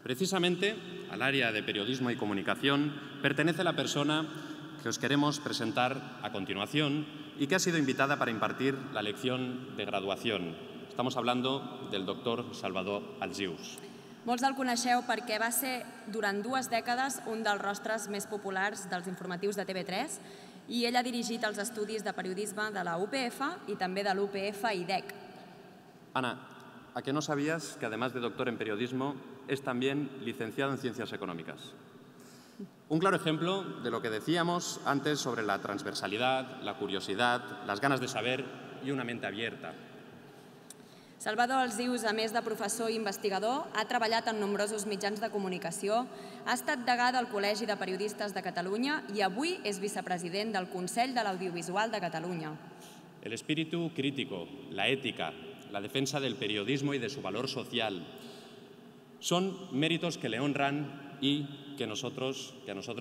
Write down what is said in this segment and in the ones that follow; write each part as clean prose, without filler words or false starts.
Precisamente al área de periodismo y comunicación pertenece la persona que os queremos presentar a continuación y que ha sido invitada para impartir la lección de graduación. Estamos hablando del doctor Salvador Alsius. Molts el coneixeu perquè va ser durant 2 dècades un dels rostres més populars dels informatius de TV3 i ell ha dirigit els estudis de periodisme de la UPF i també de l'UPF IDEC. Ana, ¿a que no sabías que además de doctor en periodismo es también licenciado en Ciencias Económicas? Un claro ejemplo de lo que decíamos antes sobre la transversalidad, la curiosidad, las ganas de saber y una mente abierta. Salvador Alsius, a més de professor i investigador, ha treballat en nombrosos mitjans de comunicació, ha estat degà del Col·legi de Periodistes de Catalunya i avui és vicepresident del Consell de l'Audiovisual de Catalunya. El espíritu crítico, la ética, la defensa del periodismo y de su valor social son méritos que le honran y que a nosotros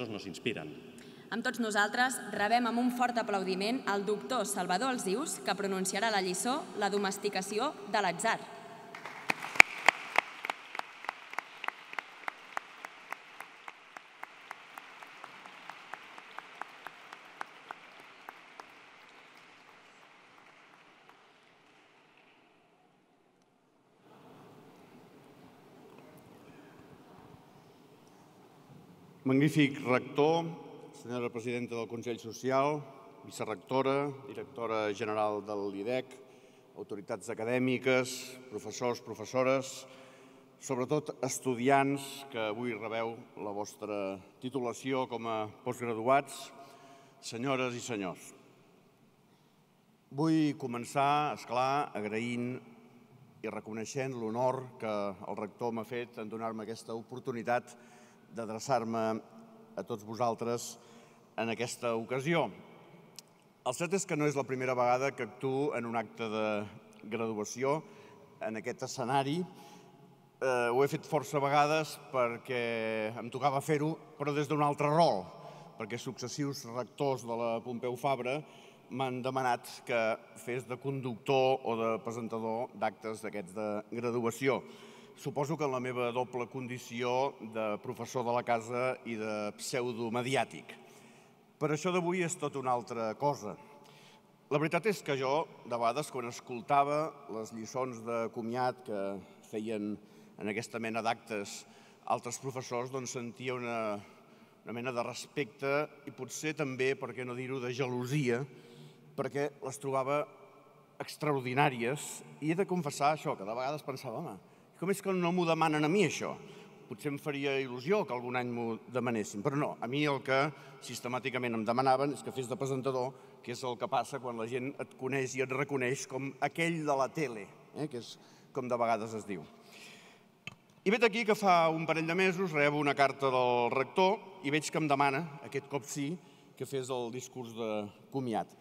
nos inspiran. Amb tots nosaltres rebem amb un fort aplaudiment el doctor Salvador Alsius, que pronunciarà la lliçó La domesticació de l'atzar. Magnífic rector, senyora presidenta del Consell Social, vicerectora, directora general de l'IDEC, autoritats acadèmiques, professors, professores, sobretot estudiants que avui rebeu la vostra titulació com a postgraduats, senyores i senyors. Vull començar, esclar, agraint i reconeixent l'honor que el rector m'ha fet en donar-me aquesta oportunitat d'adreçar-me a tots vosaltres en aquesta ocasió. El cert és que no és la primera vegada que actuo en un acte de graduació en aquest escenari. Ho he fet força vegades perquè em tocava fer-ho, però des d'un altre rol, perquè successius rectors de la Pompeu Fabra m'han demanat que fes de conductor o de presentador d'actes d'aquests de graduació. Suposo que en la meva doble condició de professor de la casa i de pseudomediàtic. Però això d'avui és tot una altra cosa. La veritat és que jo, de vegades, quan escoltava les lliçons de comiat que feien en aquesta mena d'actes altres professors, doncs sentia una mena de respecte i potser també, per què no dir-ho, de gelosia, perquè les trobava extraordinàries. I he de confessar això, que de vegades pensava, home, com és que no m'ho demanen a mi, això? Potser em faria il·lusió que algun any m'ho demanessin, però no. A mi el que sistemàticament em demanaven és que fes de presentador, que és el que passa quan la gent et coneix i et reconeix com aquell de la tele, que és com de vegades es diu. I vet aquí que fa un parell de mesos rebo una carta del rector i veig que em demana, aquest cop sí, que fes el discurs de comiat.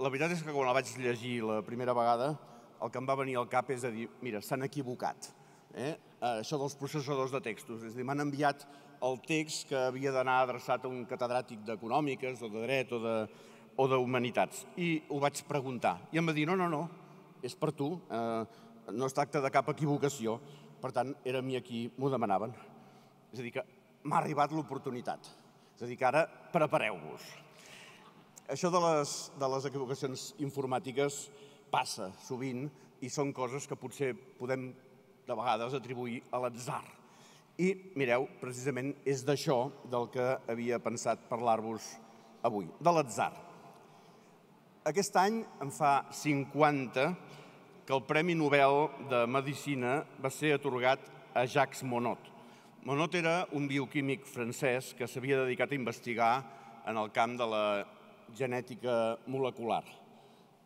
La veritat és que quan la vaig llegir la primera vegada, el que em va venir al cap és a dir, mira, s'han equivocat. Això dels processadors de textos. És a dir, m'han enviat el text que havia d'anar adreçat a un catedràtic d'econòmiques o de dret o d'humanitats. I ho vaig preguntar. I em va dir, no, és per tu, no es tracta de cap equivocació. Per tant, era a mi a qui m'ho demanaven. És a dir, que m'ha arribat l'oportunitat. És a dir, que ara prepareu-vos. Això de les equivocacions informàtiques passa sovint i són coses que potser podem de vegades atribuir a l'atzar. I, mireu, precisament és d'això del que havia pensat parlar-vos avui, de l'atzar. Aquest any en fa 50 que el Premi Nobel de Medicina va ser atorgat a Jacques Monod. Monod era un bioquímic francès que s'havia dedicat a investigar en el camp de la genètica molecular.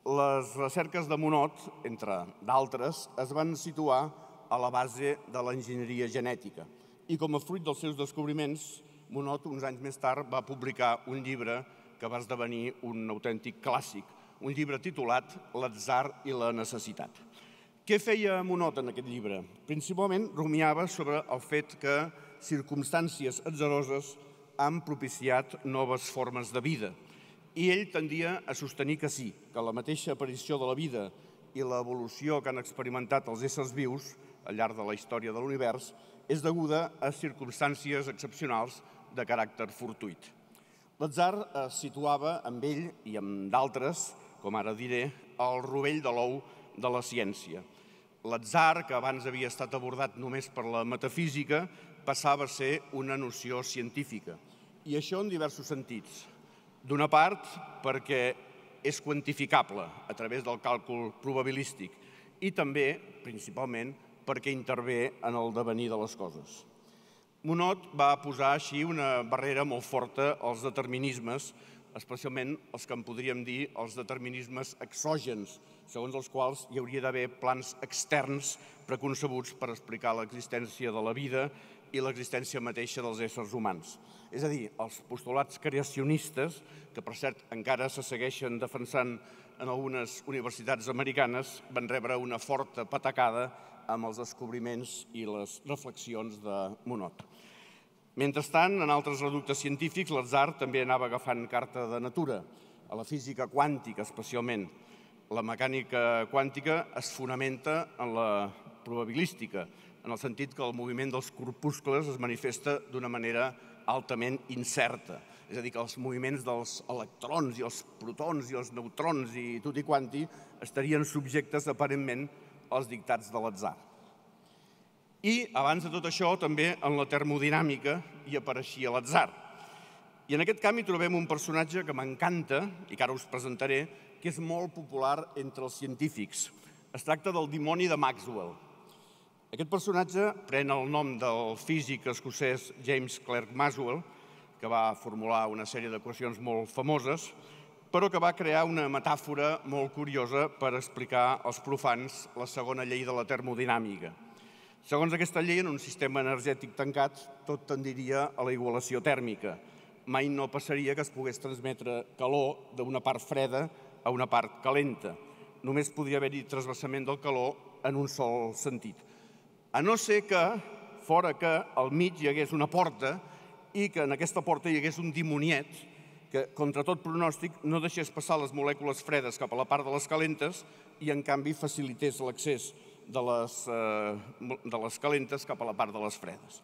Les recerques de Monod, entre d'altres, es van situar a la base de l'enginyeria genètica. I com a fruit dels seus descobriments, Monod, uns anys més tard, va publicar un llibre que va esdevenir un autèntic clàssic, un llibre titulat L'atzar i la necessitat. Què feia Monod en aquest llibre? Principalment rumiava sobre el fet que circumstàncies atzaroses han propiciat noves formes de vida. I ell tendia a sostenir que sí, que la mateixa aparició de la vida i l'evolució que han experimentat els éssers vius al llarg de la història de l'univers és deguda a circumstàncies excepcionals de caràcter fortuït. L'atzar es situava amb ell i amb d'altres, com ara diré, al rovell de l'ou de la ciència. L'atzar, que abans havia estat abordat només per la metafísica, passava a ser una noció científica. I això en diversos sentits. D'una part, perquè és quantificable a través del càlcul probabilístic i també, principalment, perquè intervé en el devenir de les coses. Monod va posar així una barrera molt forta als determinismes, especialment els que en podríem dir els determinismes exògens, segons els quals hi hauria d'haver plans externs preconcebuts per explicar l'existència de la vida i l'existència mateixa dels éssers humans. És a dir, els postulats creacionistes, que per cert encara se segueixen defensant en algunes universitats americanes, van rebre una forta patacada amb els descobriments i les reflexions de Monod. Mentrestant, en altres reductes científics, l'atzar també anava agafant carta de natura, a la física quàntica especialment. La mecànica quàntica es fonamenta en la probabilística, en el sentit que el moviment dels corpuscles es manifesta d'una manera altament incerta. És a dir, que els moviments dels electrons i els protons i els neutrons i tutti quanti estarien subjectes aparentment als dictats de l'atzar. I, abans de tot això, també en la termodinàmica hi apareixia l'atzar. I en aquest camp hi trobem un personatge que m'encanta, i que ara us presentaré, que és molt popular entre els científics. Es tracta del dimoni de Maxwell. Aquest personatge pren el nom del físic escocès James Clerk Maxwell, que va formular una sèrie d'equacions molt famoses, però que va crear una metàfora molt curiosa per explicar als profans la segona llei de la termodinàmica. Segons aquesta llei, en un sistema energètic tancat, tot tendiria a la igualació tèrmica. Mai no passaria que es pogués transmetre calor d'una part freda a una part calenta. Només podria haver-hi transvasament del calor en un sol sentit. A no ser que, fora que al mig hi hagués una porta i que en aquesta porta hi hagués un dimoniet que, contra tot pronòstic, no deixés passar les molècules fredes cap a la part de les calentes i, en canvi, facilités l'accés de les calentes cap a la part de les fredes.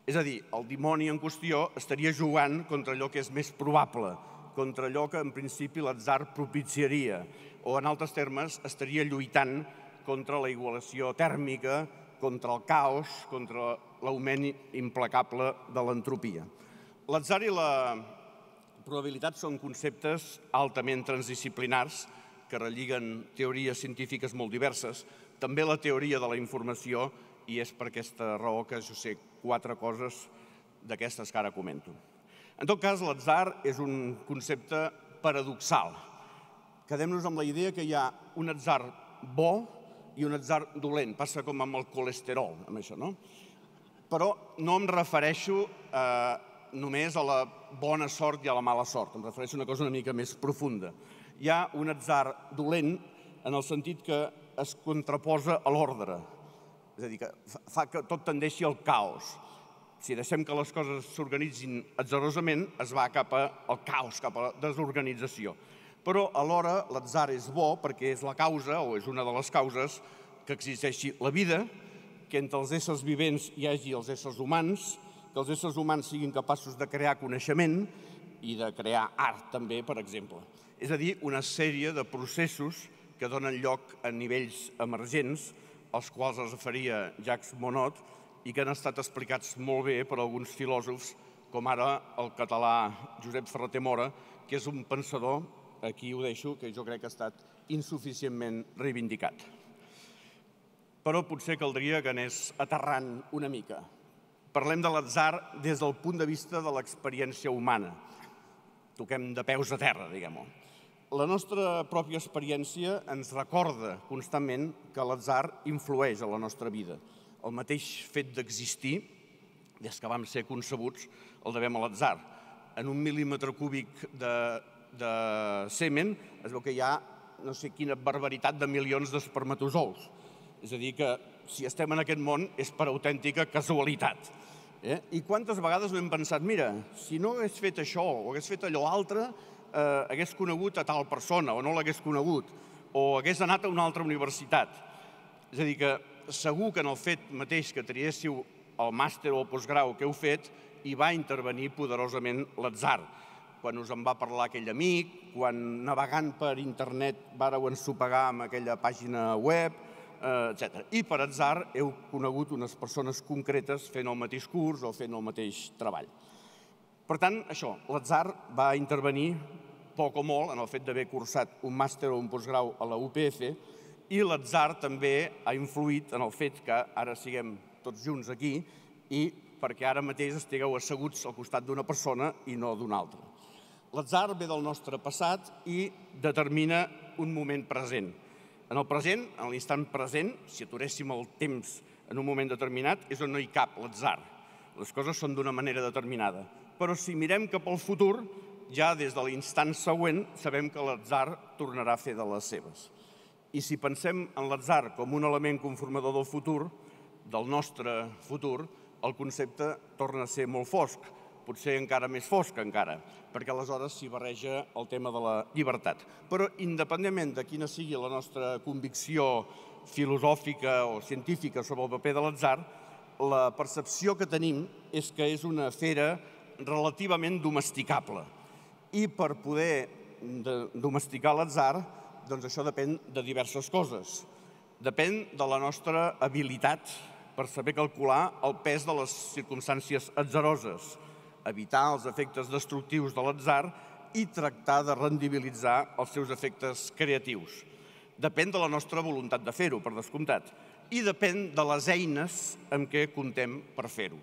És a dir, el dimoni en qüestió estaria jugant contra allò que és més probable, contra allò que en principi l'atzar propiciaria, o en altres termes estaria lluitant contra la igualació tèrmica, contra el caos, contra l'augment implacable de l'entropia. L'atzar i la probabilitat són conceptes altament transdisciplinars que relliguen teories científiques molt diverses, també la teoria de la informació, i és per aquesta raó que jo sé 4 coses d'aquestes que ara comento. En tot cas, l'atzar és un concepte paradoxal. Quedem-nos amb la idea que hi ha un atzar bo i un atzar dolent. Passa com amb el colesterol, amb això, no? Però no em refereixo només a la bona sort i a la mala sort. Em refereixo a una cosa una mica més profunda. Hi ha un atzar dolent en el sentit que es contraposa a l'ordre. És a dir, que fa que tot tendeixi al caos. Si deixem que les coses s'organitzin atzarosament, es va cap al caos, cap a la desorganització. Però alhora l'atzar és bo perquè és la causa, o és una de les causes, que existeixi la vida, que entre els éssers vivents hi hagi els éssers humans, que els éssers humans siguin capaços de crear coneixement i de crear art també, per exemple. És a dir, una sèrie de processos que donen lloc a nivells emergents, als quals es referia Jacques Monod, i que han estat explicats molt bé per alguns filòsofs, com ara el català Josep Ferrater Mora, que és un pensador, aquí ho deixo, que jo crec que ha estat insuficientment reivindicat. Però potser caldria que anés aterrant una mica. Parlem de l'atzar des del punt de vista de l'experiència humana. Toquem de peus a terra, diguem-ho. La nostra pròpia experiència ens recorda constantment que l'atzar influeix a la nostra vida. El mateix fet d'existir, des que vam ser concebuts, el devem a l'atzar. En un mil·límetre cúbic de semen es veu que hi ha no sé quina barbaritat de milions d'espermatozous. És a dir, que si estem en aquest món és per autèntica casualitat. I quantes vegades no hem pensat, mira, si no hagués fet això o hagués fet allò altre, hagués conegut a tal persona o no l'hagués conegut, o hagués anat a una altra universitat. És a dir, que segur que en el fet mateix que triéssiu el màster o el postgrau que heu fet hi va intervenir poderosament l'atzar. Quan us en va parlar aquell amic, quan navegant per internet vàreu ensopegar amb aquella pàgina web, etc. I per atzar heu conegut unes persones concretes fent el mateix curs o fent el mateix treball. Per tant, això, l'atzar va intervenir poc o molt en el fet d'haver cursat un màster o un postgrau a la UPF i l'atzar també ha influït en el fet que ara siguem tots junts aquí i perquè ara mateix estigueu asseguts al costat d'una persona i no d'una altra. L'atzar ve del nostre passat i determina un moment present. En el present, en l'instant present, si aturéssim el temps en un moment determinat, és on no hi cap l'atzar. Les coses són d'una manera determinada. Però si mirem cap al futur, ja des de l'instant següent sabem que l'atzar tornarà a fer de les seves. I si pensem en l'atzar com un element conformador del futur, del nostre futur, el concepte torna a ser molt fosc, potser encara més fosc encara, perquè aleshores s'hi barreja el tema de la llibertat. Però independentment de quina sigui la nostra convicció filosòfica o científica sobre el paper de l'atzar, la percepció que tenim és que és una fera relativament domesticable. I per poder domesticar l'atzar, doncs això depèn de diverses coses. Depèn de la nostra habilitat per saber calcular el pes de les circumstàncies atzaroses, evitar els efectes destructius de l'atzar i tractar de rendibilitzar els seus efectes creatius. Depèn de la nostra voluntat de fer-ho, per descomptat, i depèn de les eines amb què comptem per fer-ho.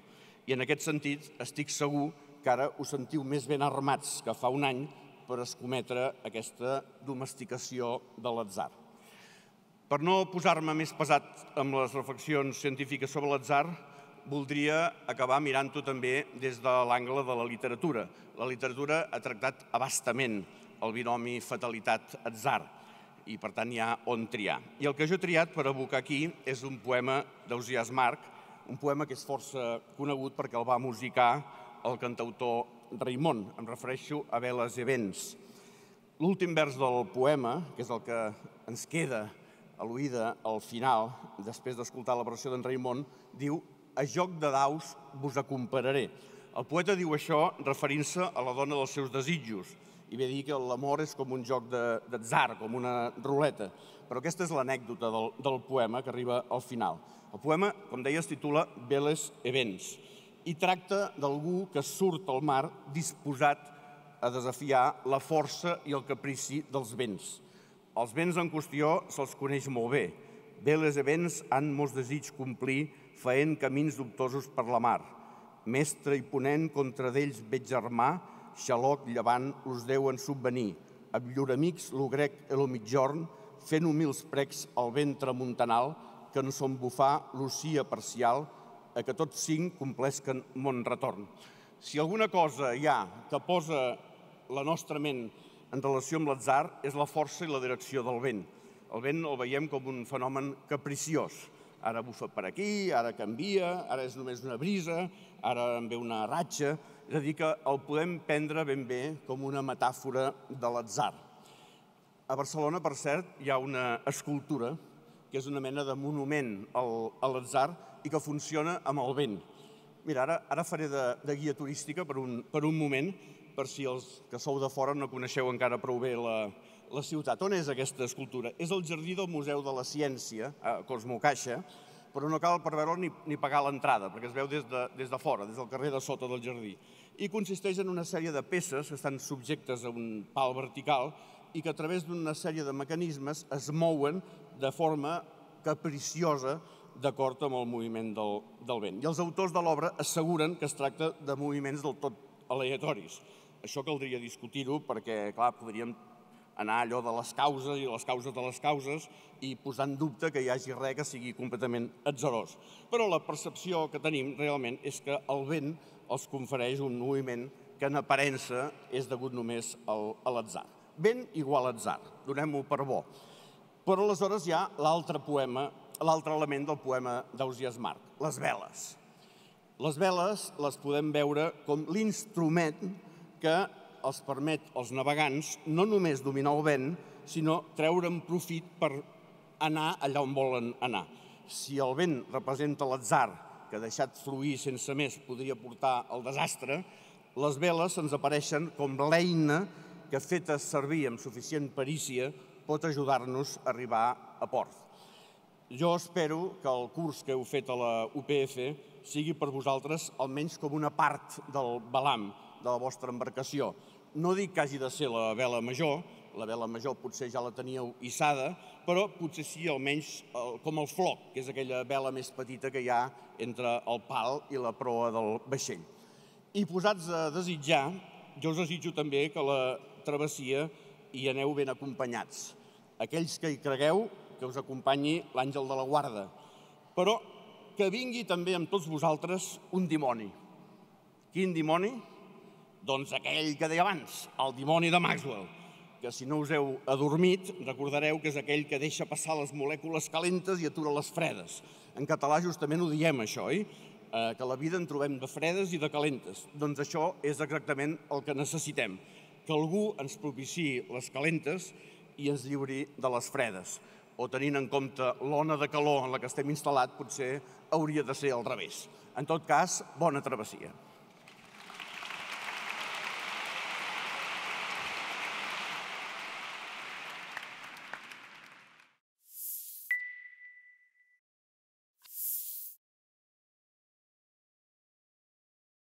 I en aquest sentit estic segur que ara us sentiu més ben armats que fa un any per escometre aquesta domesticació de l'atzar. Per no posar-me més pesat amb les reflexions científiques sobre l'atzar, voldria acabar mirant-ho també des de l'angle de la literatura. La literatura ha tractat a bastament el binomi fatalitat-atzar i, per tant, hi ha on triar. I el que jo he triat per evocar aquí és un poema d'Ausiàs March, un poema que és força conegut perquè el va musicar el cantautor Raimon. Em refereixo a Veles i Vents. L'últim vers del poema, que és el que ens queda a l'oïda al final, després d'escoltar la versió d'en Raimon, diu: «A joc de daus vos acompararé». El poeta diu això referint-se a la dona dels seus desitjos i ve a dir que l'amor és com un joc d'atzar, com una ruleta. Però aquesta és l'anècdota del poema que arriba al final. El poema, com deia, es titula Veles e Vents i tracta d'algú que surt al mar disposat a desafiar la força i el caprici dels vents. Els vents en qüestió se'ls coneix molt bé. Veles e vents han molts desig complir faent camins dubtosos per la mar. Mestre i ponent contra d'ells veig germà, xaloc llevant us deuen subvenir. Amb llur amics, lo grec e lo mitjorn, fent humils precs al vent tramuntanal, que en son bufar l'ocia parcial, a que tots cinc complesquen mon retorn. Si alguna cosa hi ha que posa la nostra ment en relació amb l'atzar és la força i la direcció del vent. El vent el veiem com un fenomen capriciós. Ara bufa per aquí, ara canvia, ara és només una brisa, ara en ve una ratxa. És a dir, que el podem prendre ben bé com una metàfora de l'atzar. A Barcelona, per cert, hi ha una escultura que és una mena de monument a l'atzar i que funciona amb el vent. Mira, ara faré de guia turística per un moment, per si els que sou de fora no coneixeu encara prou bé la ciutat. On és aquesta escultura? És al jardí del Museu de la Ciència, a Cosmocaixa, però no cal per veure ni pagar l'entrada, perquè es veu des de fora, des del carrer de sota del jardí. I consisteix en una sèrie de peces que estan subjectes a un pal vertical i que a través d'una sèrie de mecanismes es mouen de forma capriciosa d'acord amb el moviment del vent. I els autors de l'obra asseguren que es tracta de moviments del tot aleatoris. Això caldria discutir-ho perquè, clar, podríem anar allò de les causes i les causes de les causes i posar en dubte que hi hagi res que sigui completament atzarós. Però la percepció que tenim realment és que el vent els confereix un moviment que en aparença és degut només a l'atzar. Vent igual atzar, donem-ho per bo. Però aleshores hi ha l'altre element del poema d'Ausiàs March, les veles. Les veles les podem veure com l'instrument que els permet als navegants no només dominar el vent, sinó treure'n profit per anar allà on volen anar. Si el vent representa l'atzar, que deixat fluir sense més podria portar al desastre, les veles ens apareixen com l'eina que, feta servir amb suficient perícia, pot ajudar-nos a arribar a port. Jo espero que el curs que heu fet a la UPF sigui per vosaltres almenys com una part del velam de la vostra embarcació. No dic que hagi de ser la vela major potser ja la teníeu hissada, però potser sí almenys com el floc, que és aquella vela més petita que hi ha entre el pal i la proa del vaixell. I posats a desitjar, jo us desitjo també que la travessia hi aneu ben acompanyats. Aquells que hi cregueu, que us acompanyi l'àngel de la guarda, però que vingui també amb tots vosaltres un dimoni. Quin dimoni? Doncs aquell que deia abans, el dimoni de Maxwell, que si no us heu adormit recordareu que és aquell que deixa passar les molècules calentes i atura les fredes. En català justament ho diem això, oi? Que a la vida en trobem de fredes i de calentes. Doncs això és exactament el que necessitem, que algú ens propiciï les calentes i ens lliuri de les fredes. O tenint en compte l'ona de calor en la que estem instal·lats, potser hauria de ser al revés. En tot cas, bona travessia.